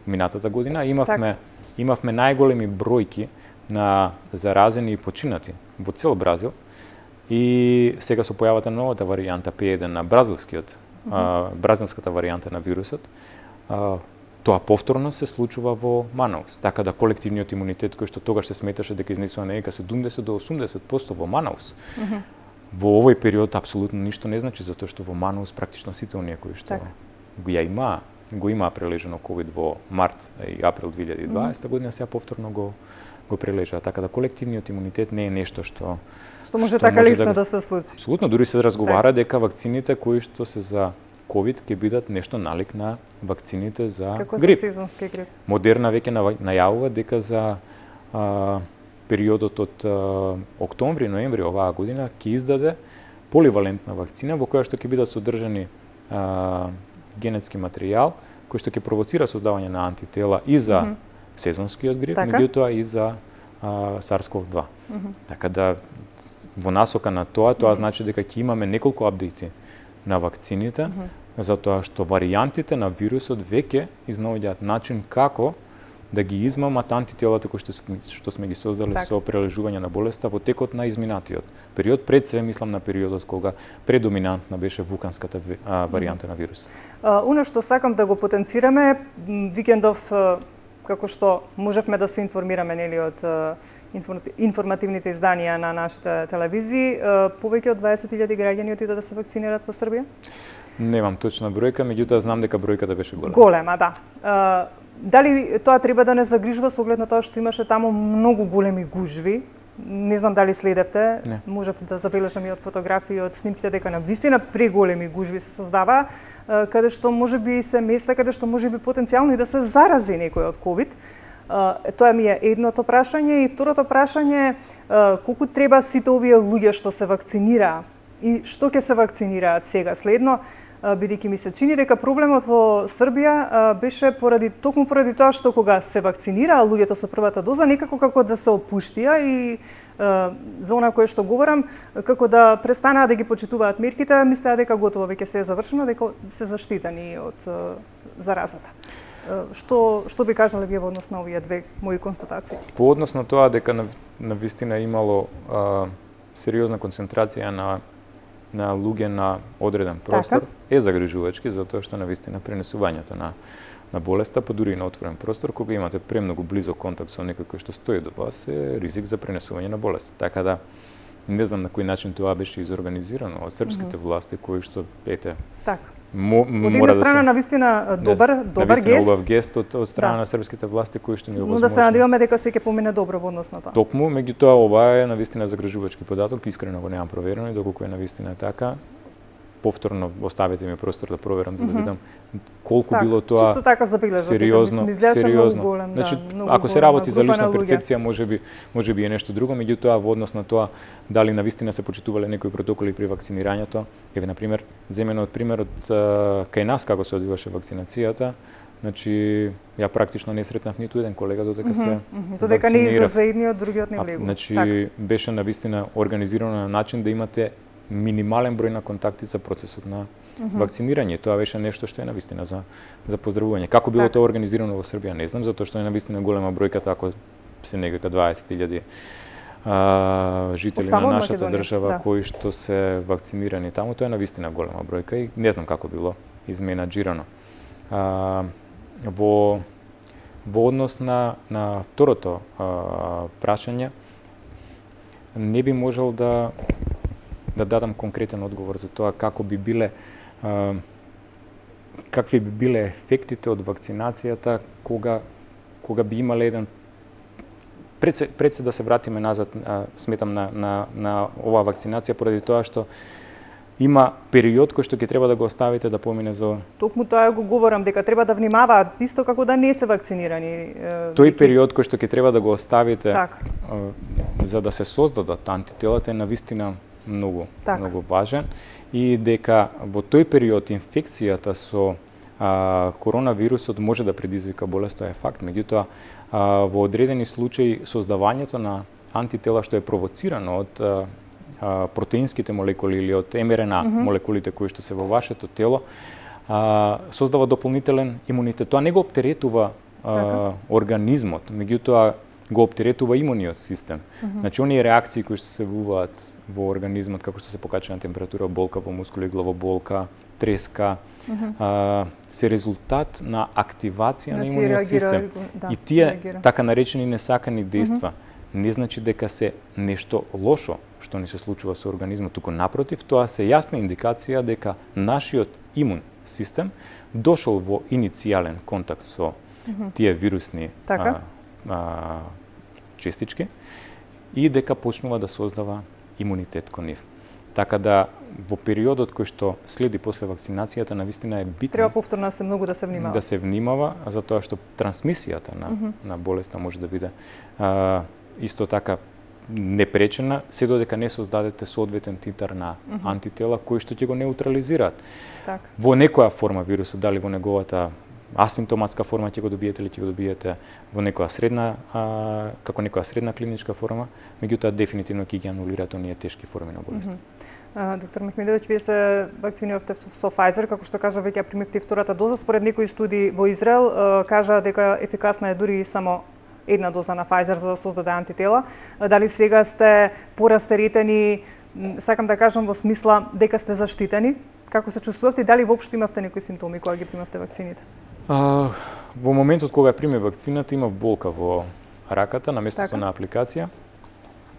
минатата година имавме так. имавме најголеми бројки на заразени и починати во цел Бразил и сега со појавата на новата варијанта П еден на бразилскиот mm -hmm. а, бразилската варијанта на вирусот, а, тоа повторно се случува во Манаус. Така да колективниот имунитет кој што тогаш се сметаше дека изнесува нека седумдесет до осумдесет проценти во Манаус, mm -hmm. во овој период апсолутно ништо не значи, затоа што во Манаус практично сите оние кои што так. го ја имаа, го имаа прележено ковид во март и април две илјади и дваесета mm -hmm. година, сега повторно го го прележаа. Така да колективниот имунитет не е нешто што што може што така лесно да, да се случи. Апсолутно, дури се разговара дека вакцините кои што се за ковид ќе бидат нешто налик на вакцините за Како грип. Како за сезонски грип. Модерна веќе најавува дека за а, периодот од а, октомври, ноември оваа година ќе издаде поливалентна вакцина во која што ќе бидат содржани а, генетски материјал кој што ќе провоцира создавање на антитела и за mm -hmm. сезонскиот грип, така? Меѓутоа и за а, SARS-CoV два. Mm -hmm. Така да во насока на тоа, тоа mm -hmm. значи дека ќе имаме неколку апдејти на вакцините, mm -hmm. затоа што варијантите на вирусот веќе изнаоѓаат начин како да ги измамат антителата кои што, што сме ги создали так. Со прележување на болеста во текот на изминатиот период, пред се мислам на периодот кога предоминантна беше вулканската а, варијанта на вирус. Уно што сакам да го потенцираме, викендов како што можевме да се информираме нели од информативните изданија на нашите телевизии, повеќе од дваесет илјади граѓани отидоа да се вакцинираат во Србија? Немам точна бројка, меѓутоа знам дека бројката беше голема. Голема, да. Дали тоа треба да не загрижува со оглед на тоа што имаше таму многу големи гужви? Не знам дали следевте, не. Можев да забележам и од фотографии, од снимките дека навистина преголеми гужви се создава, каде што можеби се места каде што можеби потенцијално и да се зарази некој од ковид. Тоа ми е едното прашање и второто прашање, колку треба сите овие луѓе што се вакцинираа и што ќе се вакцинираат сега следно, бидејќи ми се чини дека проблемот во Србија беше поради токму поради тоа што кога се вакцинираа луѓето со првата доза некако како да се опуштија и за она кое што говорам, како да престанаа да ги почитуваат мерките, мислеа дека готово веќе се е завршено, дека се заштитени од заразата. Што што би кажале вие во однос на овие две мои констатации? По однос на тоа дека на, на вистина имало а, сериозна концентрација на на луѓе на одреден простор, така? Е загрижувачки, затоа што навистина пренесувањето на на болеста, па дури и на отворен простор, кога имате премногу близок контакт со некој кој што стои до вас, е ризик за пренесување на болест. Така да не знам на кој начин тоа беше изорганизирано од српските mm -hmm. власти кои што ете. Така. Мо, од една страна да се... навистина добар, не, добар навистина гест. Убав гест од, од страна да. На српските власти кои што ни овозможно. Но да се надеваме дека се ќе помине добро во однос на тоа. Токму, меѓутоа ова е навистина загрижувачки податок, искрено го немам проверено и доколку е навистина така, повторно оставете ми простор да проверам за да видам колку так, било тоа чисто така забележав, сериозно, сериозно. Голем, значи, да, ако се работи за лична луѓе. перцепција, можеби можеби е нешто друго, меѓутоа во однос на тоа дали навистина се почитувале некои протоколи при вакцинирањето, еве на пример, земено од примерот кај нас како се одвиваше вакцинацијата, значи ја практично не сретнав ниту еден колега додека mm -hmm, се mm -hmm. додека не излезе едниот, другиот не влегу. Значи так. Беше навистина организирано на начин да имате минимален број на контакти за процесот на mm -hmm. вакцинирање. Тоа беше нешто што е навистина за за поздравување. Како било так. Тоа организирано во Србија, не знам, затоа што е навистина голема бројката, ако се некака дваесет илјади а, жители на нашата Македонија, држава да. Кои што се вакцинирани таму, тоа е навистина голема бројка и не знам како било изменаџирано. А, во во однос на на второто а, прашање, не би можел да да дадам конкретен одговор за тоа како би биле а, какви би биле ефектите од вакцинацијата кога кога би имале еден пред се, пред се да се вратиме назад, а, сметам на на на оваа вакцинација поради тоа што има период кој што ќе треба да го оставите да помине за... Токму тоа го говорам, дека треба да внимаваат, исто како да не се вакцинирани. Тој период кој што ќе треба да го оставите так. за да се создадат антителата е навистина многу, так. многу важен и дека во тој период инфекцијата со а, коронавирусот може да предизвика болест, тоа е факт. Меѓутоа, а, во одредени случаи создавањето на антитела што е провоцирано од а, протеинските молекули или од Ем Ер Ен А mm -hmm. молекулите кои што се во вашето тело, а, создава дополнителен имунитет. Тоа не го оптеретува а, организмот, меѓутоа го оптеретува имуниот систем. Mm -hmm. Значи, оние реакции кои што се вуваат во организмот, како што се покачена температура, болка во мускули, главоболка, треска, mm -hmm. а, се резултат на активација значи, на имуниот реагира, систем. Да, и тие реагира. Така наречени несакани дејства mm -hmm. не значи дека се нешто лошо што ни се случува со организмот, туку напротив, тоа се јасна индикација дека нашиот имун систем дошол во иницијален контакт со mm -hmm. тие вирусни така? а, а, честички и дека почнува да создава имунитет кон нив. Така да во периодот кој што следи после вакцинацијата навистина е битно. Треба повторно се многу да се внимава. Да се внимава, затоа што трансмисијата на mm -hmm. на болеста може да биде а, исто така непречена, се додека не создадете соодветен титар на mm -hmm. антитела кои што ќе го неутрализираат. Так. Во некоја форма вирусот, дали во неговата асимптоматска форма ќе го добиете или ќе го добиете во некоја средна, а, како некоја средна клиничка форма, меѓутоа дефинитивно ќе ги анулираат оние тешки форми на болест. Mm -hmm. Доктор Мехмедовиќ, вие се вакциниравте со Pfizer, како што кажа, веќе примивте втората доза. Според некои студии во Израел кажа дека ефикасна е дури само една доза на Pfizer за да создаде антитела. Дали сега сте порастеретени, сакам да кажам во смисла дека сте заштитени? Како се чувствувавте и дали воопшто имавте некои симптоми кога ги примавте вакцините? А, во моментот кога примев вакцината имав болка во раката на местото така? На апликација,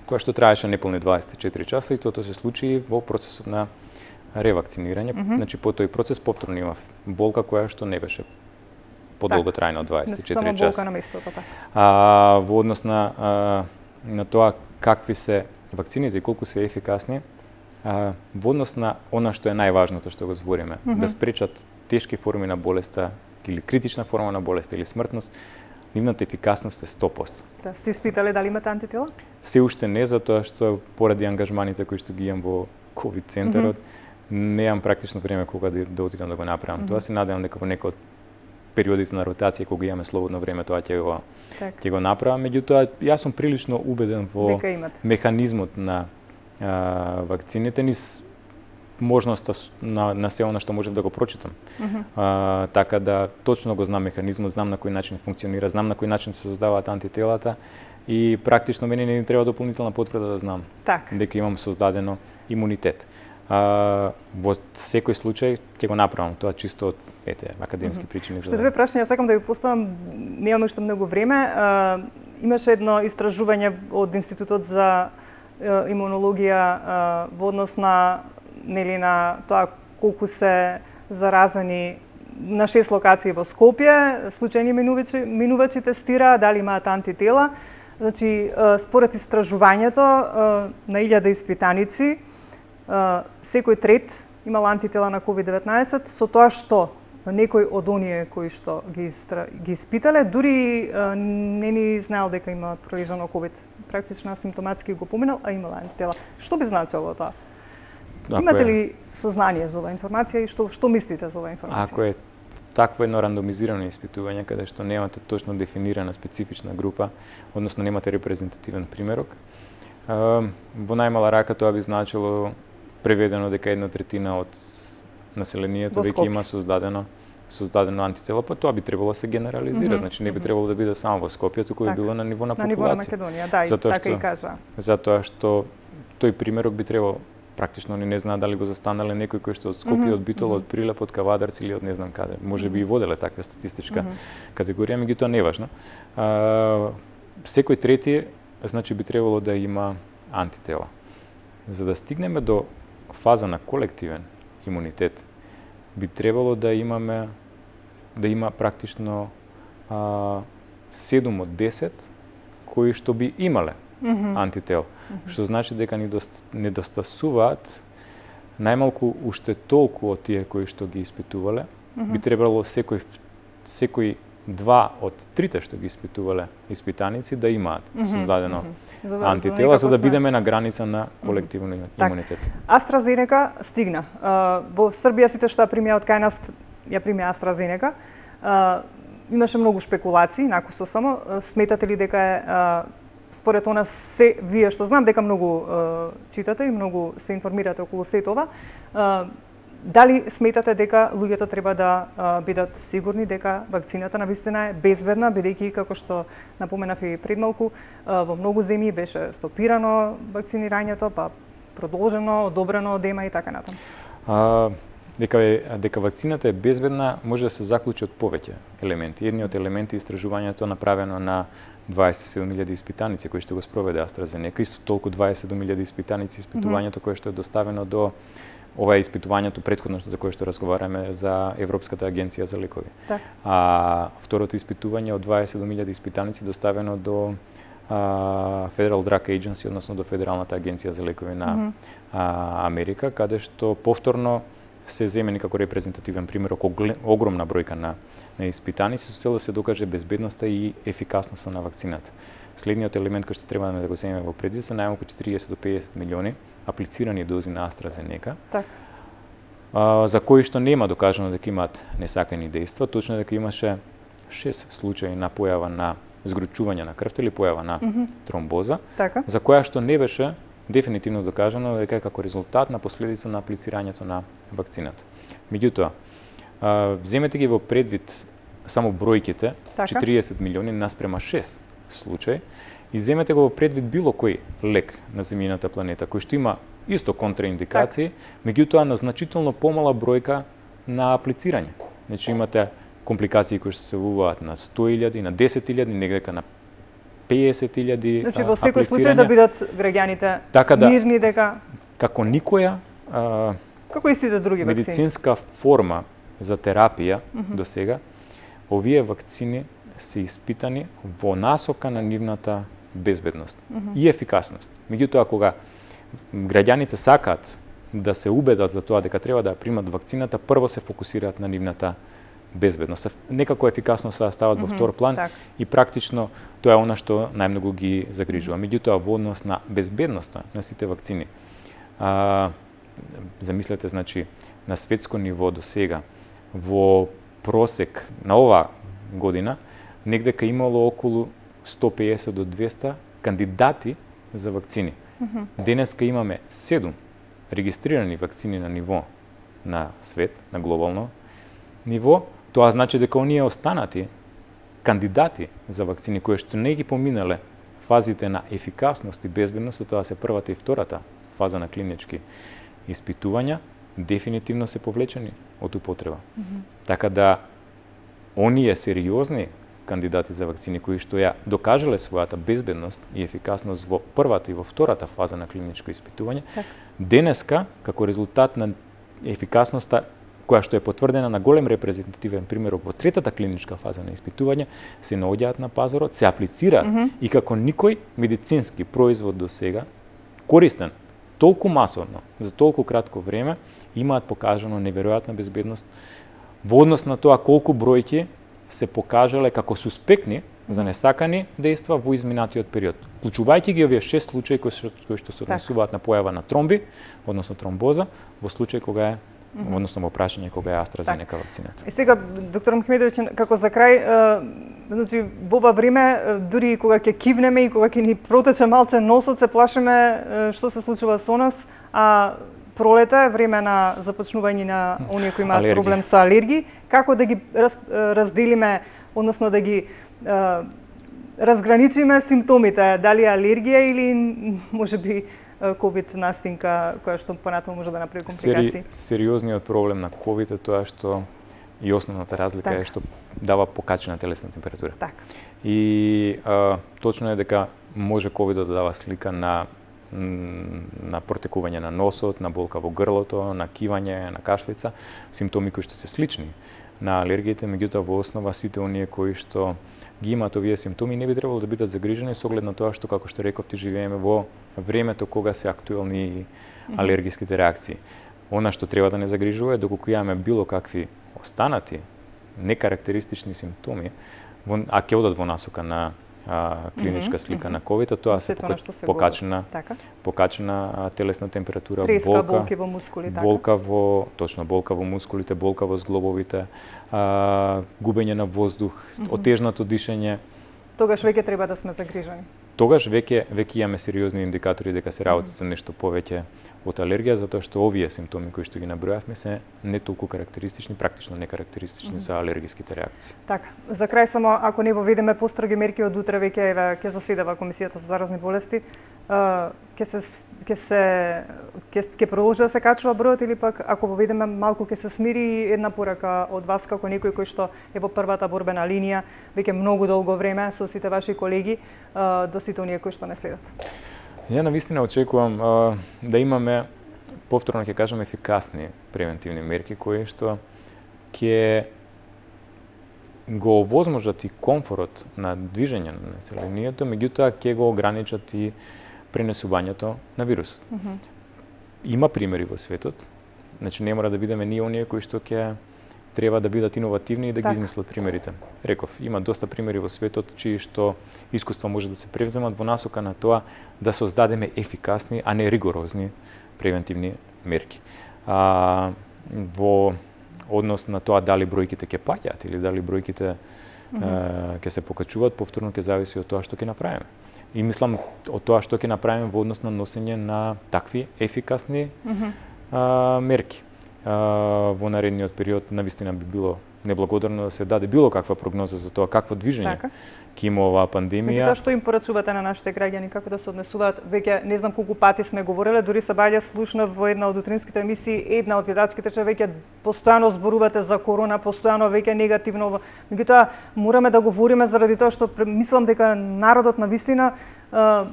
која што траеше неполни дваесет и четири часа и тоа се случи во процесот на ревакцинирање. Mm -hmm. Значи по тој процес повторно имав болка која што не беше подолго трајна од дваесет и четири часа. Болка на местото, така. А во однос на а, на тоа какви се вакцините и колку се ефикасни, а, во однос на она што е најважното што го збориме, mm -hmm. да спречат тешки форми на болеста или критична форма на болест или смртност, нивната ефикасност е сто проценти. Да, сте испитале дали имате антитела? Се уште не, затоа што поради ангажманите кои што ги имам во ковид центарот, mm -hmm. неам практично време кога да, да отидам да го направам. Mm -hmm. Тоа се надевам дека во некој од периодите на ротација кога имаме слободно време тоа ќе го так. ќе го направам. Меѓутоа јас сум прилично убеден во механизмот на а, вакцините, низ можноста на, на се она што можев да го прочитам. Mm -hmm. а, така да точно го знам механизмот, знам на кој начин функционира, знам на кој начин се создаваат антителата и практично мене не ни треба дополнителна потврда да знам так. дека имам создадено имунитет. А, во секој случај ќе го направам тоа чисто од ете академски mm -hmm. причини. Што две прашања сакам да ви поставам, немаме уште многу време. А, имаше едно истражување од Институтот за имунологија а, во однос на нели на тоа колку се заразени на шест локации во Скопје, случајни минувачи, минувачи тестира, дали имаат антитела. Значи, според истражувањето на илјада испитаници, секој трет имал антитела на ковид деветнаесет, со тоа што некој од оние кои што ги, истра... ги испитале, дури не ни знаел дека има пролежано ковид. Практично асимптоматски го поминал, а имал антитела. Што би значило тоа? Ако имате ли сознание за оваа информација и што што мислите за оваа информација? Ако е такво едно рандомизирано испитување каде што немате точно дефинирана специфична група, односно немате репрезентативен примерок, во најмала рака тоа би значило преведено дека една третина од населението веќе има создадено создадено антитело, па тоа би требало да се генерализира, mm -hmm. значи не би требало да биде само во Скопје, туку би било на ниво на популација. На ниво на Македонија, да, и така и кажа. Затоа што тој примерок би требало практично ни не знаа дали го застанале некој кој што од Скопје, mm -hmm. од Битола, од Прилеп, од Кавадарци или од не знам каде. Може би и воделе таква статистичка mm -hmm. категорија, меѓутоа не важно. А, секој трети, значи би требало да има антитела. За да стигнеме до фаза на колективен имунитет, би требало да имаме да има практично а, седум од десет кои што би имале mm -hmm. антител, mm -hmm. што значи дека недостасуваат најмалку уште толку од тие кои што ги испитувале. Mm -hmm. Би требало секој секој два од трите што ги испитувале испитаници да имаат mm -hmm. создадено mm -hmm. антитела, за да бидеме на граница на колективен mm -hmm. имунитет. Так. AstraZeneca стигна. Во Србија сите што ја примија од кај нас ја примија AstraZeneca. Имаше многу шпекулации, накусо само. Сметате ли дека е според она се, вие што знам дека многу читате и многу се информирате околу сето ова, дали сметате дека луѓето треба да а, бидат сигурни дека вакцината навистина е безбедна, бидејќи како што напоменав и пред малку, а, во многу земји беше стопирано вакцинирањето, па продолжено, одобрено од ЕМА и така натаму? А, дека е дека вакцината е безбедна може да се заклучи од повеќе елементи. Едниот елемент е истражувањето направено на дваесет и седум илјади испитаници кои што го спроведе AstraZeneca, исто толку дваесет и седум илјади испитаници испитувањето mm -hmm. кое што е доставено до ова е испитувањето претходно за кое што разговараме за Европската агенција за лекови. Так. А второто испитување од дваесет и седум илјади испитаници доставено до а, Federal Drug Agency, односно до Федералната агенција за лекови на mm -hmm. а, Америка, каде што повторно се земени како репрезентативен пример околу огромна бројка на, на испитаници со цел да се докаже безбедноста и ефикасноста на вакцината. Следниот елемент кој што треба да го земеме во предвид се најмалку четириесет до педесет милиони аплицирани дози на AstraZeneca, так. а, за кои што нема докажано дека имаат несакани дејства, точно дека имаше шест случаи на појава на згручување на крвта или појава на mm -hmm. тромбоза, така. За која што не беше дефинитивно докажано дека е како резултат на последица на аплицирањето на вакцината. Меѓутоа, земете ги во предвид само бројките, така. четириесет милиони наспрема шест случаи, и земете го во предвид било кој лек на земјината планета, кој што има исто контраиндикации, так. Меѓутоа на значително помала бројка на аплицирање. Значи имате компликации кои што се явуваат на сто илјади, на десет илјади, негдека на педесет илјади. Значи во секој случај да бидат граѓаните така да, мирни дека како никоја а, како и сите други вакцини, медицинска форма за терапија mm -hmm. до сега, овие вакцини се испитани во насока на нивната безбедност mm -hmm. и ефикасност. Меѓутоа, кога граѓаните сакаат да се убедат за тоа дека треба да примат вакцината, прво се фокусираат на нивната безбедност. Некако ефикасно се стават mm -hmm, во втор план так. И практично тоа е она што најмногу ги загрижува. Меѓутоа, во однос на безбедноста на сите вакцини, а, замислете, значи, на светско ниво до сега, во просек на ова година, негдека имало околу сто педесет до двесте кандидати за вакцини. Mm -hmm. Денеска имаме седум регистрирани вакцини на ниво на свет, на глобално ниво. Тоа значи дека оние останати кандидати за вакцини кои што не ги поминале фазите на ефикасност и безбедност, тоа се првата и втората фаза на клинички испитувања, дефинитивно се повлечени од употреба. Mm -hmm. Така да оние сериозни кандидати за вакцини кои што ја докажале својата безбедност и ефикасност во првата и во втората фаза на клиничко испитување, так. Денеска, како резултат на ефикасноста која што е потврдена на голем репрезентативен пример во третата клиничка фаза на испитување, се наоѓаат на пазарот, се аплицираат mm -hmm. и како никој медицински производ до сега, користен толку масовно, за толку кратко време, имаат покажано неверојатна безбедност во однос на тоа колку бројки се покажале како суспектни за несакани дејства во изминатиот период. Вклучувајќи ги овие шест случаи кои што, кои што се однесуваат на појава на тромби, односно тромбоза, во случај кога е Mm -hmm. односно во прашање кога е AstraZeneca так. Вакцината. И сега, доктор Мухмедовиќ, како за крај, е, значи, во ова време, дури кога ќе кивнеме и кога ќе ни протече малце носот, се плашиме е, што се случува со нас, а пролета е време на започнување на оние кои имаат проблем со алергии, како да ги раз, разделиме, односно да ги е, разграничиме симптомите, дали алергија или можеби ковид настинка која што понатаму може да направи компликации. Сери, сериозниот проблем на ковид е тоа што и основната разлика так. Е што дава покачена телесна температура. Так. И а, точно е дека може ковидот да дава слика на на протекување на носот, на болка во грлото, на кивање, на кашлица, симптоми кои што се слични на алергиите, меѓутоа во основа сите оние кои што ги имаат овие симптоми не би требало да бидат загрижени со оглед на тоа што, како што реков, ти живееме во времето кога се актуелни алергиските реакции. Она што треба да не загрижува е доколку имаме било какви останати некарактеристични симптоми, а ќе одат во насока на а, клиничка слика mm -hmm. на ковид, тоа се покачена, така? покачена телесна температура, треска, болка, болки во мускули, така? болка во, точно, болка во мускулите, болка во зглобовите, а, губење на воздух, mm -hmm. отежнато дишење. Тогаш веќе треба да сме загрижени. Тогаш веќе веќе имаме сериозни индикатори дека се работи за нешто повеќе од алергија, затоа што овие симптоми кои што ги набројавме се не толку карактеристични, практично некарактеристични mm -hmm. за алергиските реакции. Така, за крај само ако не воведеме построги мерки од утре веќе еве ќе заседава Комисијата за заразни болести, ќе се ќе се ќе ќе продолжи да се качува бројот или пак ако воведеме малку ќе се смири? Една порака од вас како некој кој што е во првата борбена линија веќе многу долго време со сите ваши колеги до сите оние кои што не следат. Ја навистина очекувам а, да имаме, повторно ќе кажам, ефикасни превентивни мерки кои што ќе го овозможат и комфорот на движење на населението, меѓутоа ќе го ограничат и пренесувањето на вирусот. Mm -hmm. Има примери во светот, значи не мора да бидеме ние оние кои што ќе треба да бидат иновативни и да так. ги измислат примерите. Реков, има доста примери во светот чии што искуства може да се превземат во насока на тоа да создадеме ефикасни, а не ригорозни превентивни мерки. А, во однос на тоа дали бројките ќе паѓаат или дали бројките mm -hmm. ќе се покачуваат, повторно ќе зависи од тоа што ќе направиме. И мислам од тоа што ќе направиме во однос на носење на такви ефикасни mm -hmm. а, мерки. Uh, во наредниот период навистина би било неблагодарно да се даде било каква прогноза за тоа какво движење така. ќе има оваа пандемија. Тоа што им порачувате на нашите граѓани, како да се однесуваат? Веќе не знам колку пати сме говореле, дури се баѓа слушнав во една од утринските емисии, една од гледачките че веќе постојано зборувате за корона, постојано веќе негативно. Меѓутоа мораме да говориме заради тоа што мислам дека народот навистина uh,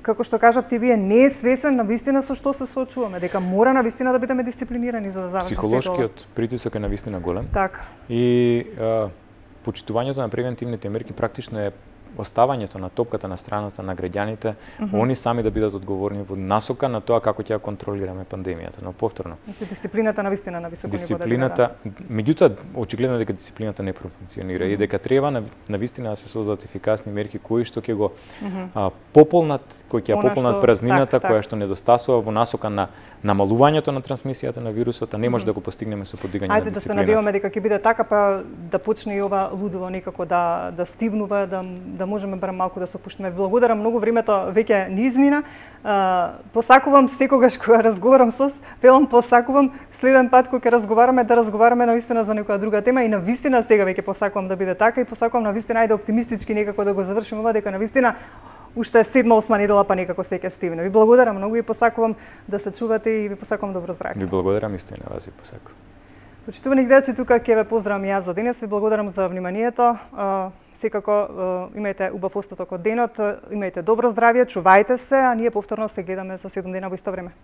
како што кажавте вие, не е свесен на вистина со што се соочуваме, дека мора на вистина да бидеме дисциплинирани за да заврши. Психолошкиот притисок е на вистина голем. Така. И а, почитувањето на превентивните мерки практично е оставањето на топката на страната на граѓаните, mm -hmm. они сами да бидат одговорни во насока на тоа како ќе ја контролираме пандемијата, но повторно. Значи дисциплината на вистина на високо ниво. Дисциплината, меѓутоа очигледно дека дисциплината не профункционира mm -hmm. и дека треба на, на вистина да се создадат ефикасни мерки кои што ќе го mm -hmm. а, пополнат, кои ќе ја пополнат што, празнината так, која так. што недостасува во насока на намалувањето на трансмисијата на вирусот, а не може mm -hmm. да го постигнеме со подигање на дисциплината. Ајде да се надеваме дека ќе биде така, па да почне и ова лудило некако да да стивнува, да да можеме барем малку да се опуштиме. Благодарам многу, времето веќе ни измина. Посакувам секогаш кога разговарам со вас, велам посакувам следен пат кога ќе разговараме да разговараме навистина за некоја друга тема и навистина сега веќе посакувам да биде така и посакувам навистина ајде оптимистички некако да го завршиме ова, дека навистина уште седма осма недела па некако се ќе стивне. Ви благодарам многу и посакувам да се чувате и ви посакувам добро здравје. Ви благодарам исто и на вас и посакувам. Почитувани гледачи, тука ќе ве поздравам јас за денес. Ви благодарам за вниманието. Секако имајте убав остаток од денот, имајте добро здравје, чувајте се, а ние повторно се гледаме за седум дена во исто време.